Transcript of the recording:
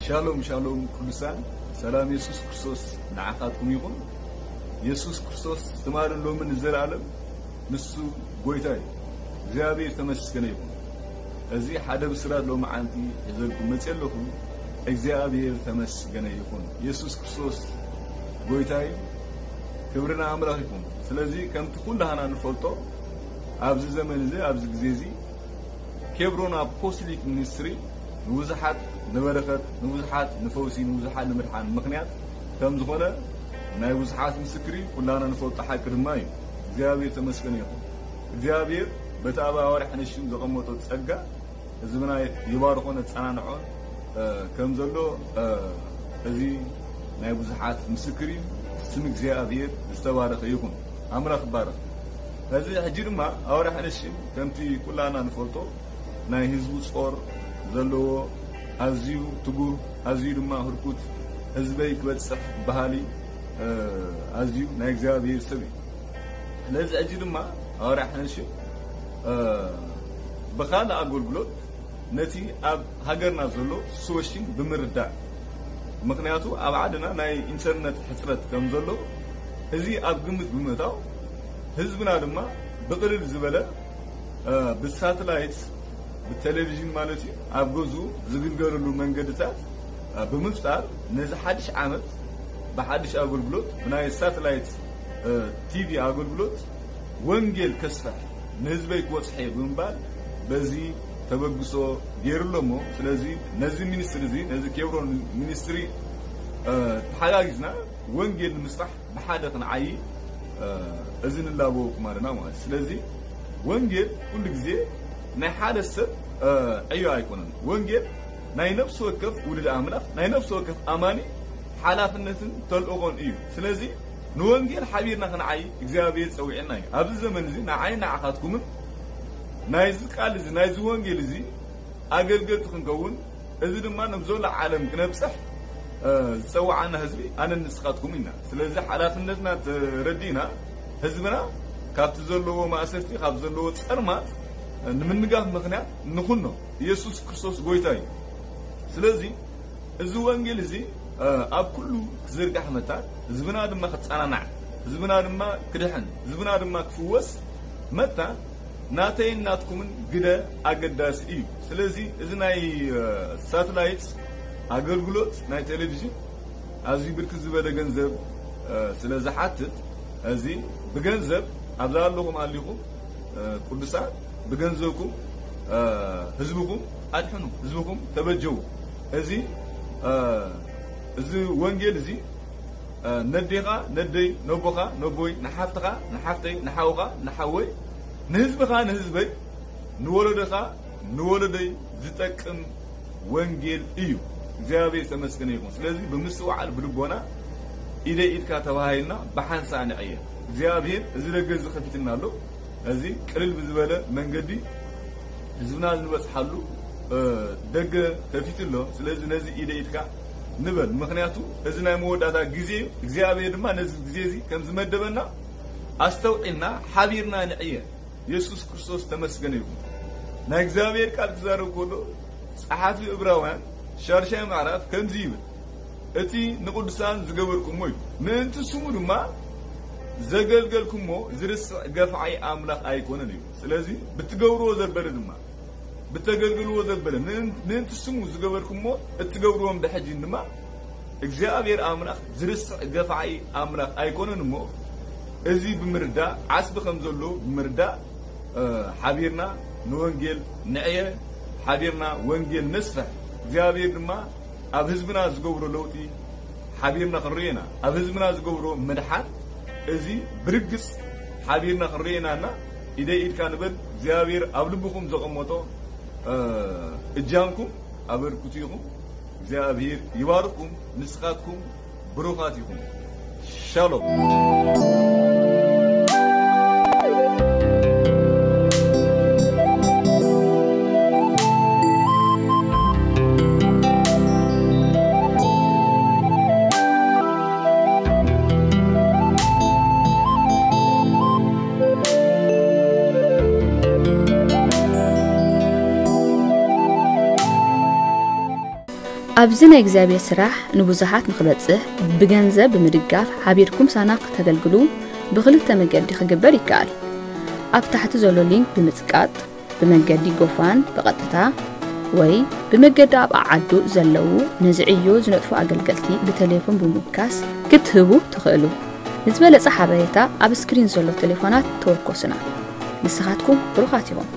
ሻሎም ሻሎም ቅዱሳን፣ ሰላም የሱስ ክርስቶስ ንዓኻትኩም ይኹን። የሱስ ክርስቶስ ትማልን ሎምን ንዘለኣለም ንሱ ጎይታ እዩ። እግዚኣብሔር ተመስገነ ይኹን። እዚ ሓደ ብስራት ሎማዓንቲ ሒዘልኩም መፅእ ኣለኹ። እግዚኣብሔር ተመስገነ ይኹን። የሱስ ክርስቶስ ጎይታ እዩ። ክብሪ ንኣምላኽ ይኹን። ስለዚ ከምቲ ኩላህና ንፈልጦ ኣብዚ ዘመን እዚ ኣብዚ ግዜ እዚ ኬብሮን ኣፖስቶሊክ ሚኒስትሪ ንብዙሓት ንበረኸት፣ ንብዙሓት ንፈውሲ፣ ንብዙሓት ንምድሓን ምኽንያት ከም ዝኾነ ናይ ብዙሓት ምስክሪ ኩላና ንፈልጦ ሓቂ ድማ እዩ። እግዚኣብሔር ተመስገን ይኹን። እግዚኣብሔር በቲ ኣብ ኣዋርሕ ነሽም ዘቐመጦ ጸጋ ህዝብና ይባርኾን የጸናንዖን ከም ዘሎ እዚ ናይ ብዙሓት ምስክር እዩ። ስም እግዚኣብሔር ዝተባረኸ ይኹን። ኣምላኽ ይባረኽ። እዚ ሕጂ ድማ ኣውራ ሕንሽም ከምቲ ኩላና ንፈልጦ ናይ ህዝቡ ጾር ዘለዎ ኣዝዩ ትጉህ ኣዝዩ ድማ ህርኩት ህዝበይ ክበጽሕ በሃሊ ኣዝዩ ናይ እግዚኣብሔር ሰብ እዩ። ስለዚ ሕጂ ድማ ኣውራ ሕንሽም ብኻልእ ኣገልግሎት ነቲ ኣብ ሃገርና ዘሎ ሲቹዌሽን ብምርዳእ፣ ምኽንያቱ ኣብ ዓድና ናይ ኢንተርነት ሕጽረት ከም ዘሎ እዚ ኣብ ግምት ብምእታው ህዝብና ድማ ብቕልል ዝበለ ብሳተላይት ብቴሌቪዥን ማለት እዩ ኣብ ገዝኡ ዝግልገለሉ መንገድታት ብምፍጣር ነዚ ሓድሽ ዓመት ብሓድሽ ኣገልግሎት ብናይ ሳተላይት ቲቪ ኣገልግሎት ወንጌል ከስፍሕ ንህዝበይ ክወፅሐ ብምባል በዚ ተበግሶ ገይሩ ኣሎ እሞ ስለዚ ነዚ ሚኒስትሪ እዚ ነዚ ኬብሮን ሚኒስትሪ ተሓጋጊዝና ወንጌል ንምስራሕ ብሓደ ክንዓይ እዚ ንላበወኩም ኣለና ማለት ስለዚ ወንጌል ኩሉ ግዜ ናይ ሓደ ሰብ ዕዮ ኣይኮነን። ወንጌል ናይ ነፍሲ ወከፍ ውሉድ ኣምላኽ ናይ ነፍሲ ወከፍ ኣማኒ ሓላፍነትን ተልእኾን እዩ። ስለዚ ንወንጌል ሓቢርና ክንዓይ እግዚኣብሔር ጸዊዕና እዩ። ኣብዚ ዘመን እዚ ንዓይ ንዓኻትኩምን ናይዚ ቃል እዚ ናይዚ ወንጌል እዚ ኣገልገልቲ ክንከውን እዚ ድማ ናብ ዘሎ ዓለም ክነብጽሕ ዝጸዋዓና ህዝቢ ኣነ ንስኻትኩም ኢና። ስለዚ ሓላፍነትና ተረዲእና ህዝብና ካብቲ ዘለዎ ማእሰርቲ ካብ ዘለዎ ጸልማት ንምንጋፍ ምኽንያት ንኹኖ። ኢየሱስ ክርስቶስ ጎይታ እዩ። ስለዚ እዚ ወንጌል እዚ ኣብ ኩሉ ክዝርጋሕ መታ ህዝብና ድማ ክጸናናዕ ህዝብና ድማ ክድሕን ህዝብና ድማ ክፍወስ መታ ናተይን ናትኩምን ግደ ኣገዳሲ እዩ። ስለዚ እዚ ናይ ሳተላይት ኣገልግሎት ናይ ቴሌቪዥን ኣዝዩ ብርክት ዝበለ ገንዘብ ስለ ዝሓትት እዚ ብገንዘብ ኣብዛ ኣለኹም ኣሊኹም ቅዱሳን ብገንዘብኩም ህዝብኩም ኣድሕኑ፣ ህዝብኩም ተበጀዉ። እዚ እዚ ወንጌል እዚ ነዴኻ ነደይ፣ ነቦኻ ነቦይ፣ ንሓፍትኻ ንሓፍተይ፣ ንሓውኻ ንሓወይ፣ ንህዝብኻ ንህዝበይ፣ ንወለዶኻ ንወለዶይ ዝጠቅም ወንጌል እዩ። እግዚኣብሔር ተመስገነ ይኹን። ስለዚ ብምስትውዓል ብልቦና ኢደ ኢድካ ተባሃሂልና ብሓንሳእ ንዕየ። እግዚኣብሔር እዚ ደገ እዚ ከፊትና ኣሎ። እዚ ቅልል ብዝበለ መንገዲ ህዝብና ንበፅሓሉ ደገ ከፊቱ ኣሎ። ስለዚ ነዚ ኢደ ኢድካ ንበል። ምኽንያቱ እዚ ናይ መወዳእታ ግዜ እዩ። እግዚኣብሔር ድማ ነዚ ግዜ እዚ ከም ዝመደበና ኣስተውዒልና ሓቢርና ንዕየ። የሱስ ክርስቶስ ተመስገነ ይኹን። ናይ እግዚኣብሔር ቃል ክዛረብ ከሎ ጸሓፊ ዕብራውያን ሻድሻይ ምዕራፍ ከምዚ ይብል፣ እቲ ንቕዱሳን ዝገበርኩሞ እዩ፣ ምእንቲ ስሙ ድማ ዘገልገልኩሞ ዝርስዕ ገፋዒ ኣምላኽ ኣይኮነን እዩ። ስለዚ ብትገብርዎ ዘበለ ድማ ብተገልግልዎ ዘበለ ምእንቲ ስሙ ዝገበርኩሞ እትገብርዎም ብሕጂ ድማ እግዚኣብሔር ኣምላኽ ዝርስዕ ገፋዒ ኣምላኽ ኣይኮነን እሞ እዚ ብምርዳእ ዓስቢ ከም ዘሎ ብምርዳእ ሓቢርና ንወንጌል ንዕየ፣ ሓቢርና ወንጌል ነስፍሕ። እግዚኣብሔር ድማ ኣብ ህዝብና ዝገብሮ ለውጢ ሓቢርና ክንርእዮ ኢና። ኣብ ህዝብና ዝገብሮ ምድሓን እዚ ብርግጽ ሓቢርና ክንርእዮ ኢና እና ኢደይ ኢድካ ንበል። እግዚኣብሔር ኣብ ልብኹም ዘቐመጦ እጃምኩም ኣበርክቱ ኢኹም። እግዚኣብሔር ይባርኽኩም። ንስኻትኩም ብሩኻት ኢኹም። ሻሎም። እዚ ናይ እግዚኣብሔር ስራሕ ንብዙሓት ንኽበጽሕ ብገንዘብ ብምድጋፍ ሓቢርኩም ሳና ከተገልግሉ ብኽልተ መገዲ ክግበር ይከኣል። ኣብ ታሕቲ ዘሎ ሊንክ ብምጽቃጥ ብመገዲ ጎፋን ብቐጥታ ወይ ብመገዲ ኣብ ዓዓዱ ዘለዉ ነዚ ዕዮ ዝነጥፉ ኣገልገልቲ ብቴሌፎን ብምውካስ ክትህቡ ትኽእሉ። ንዝበለጸ ሓበሬታ ኣብ ስክሪን ዘሎ ቴሌፎናት ተወከሱና። ንስኻትኩም ብሩኻት ኢኹም።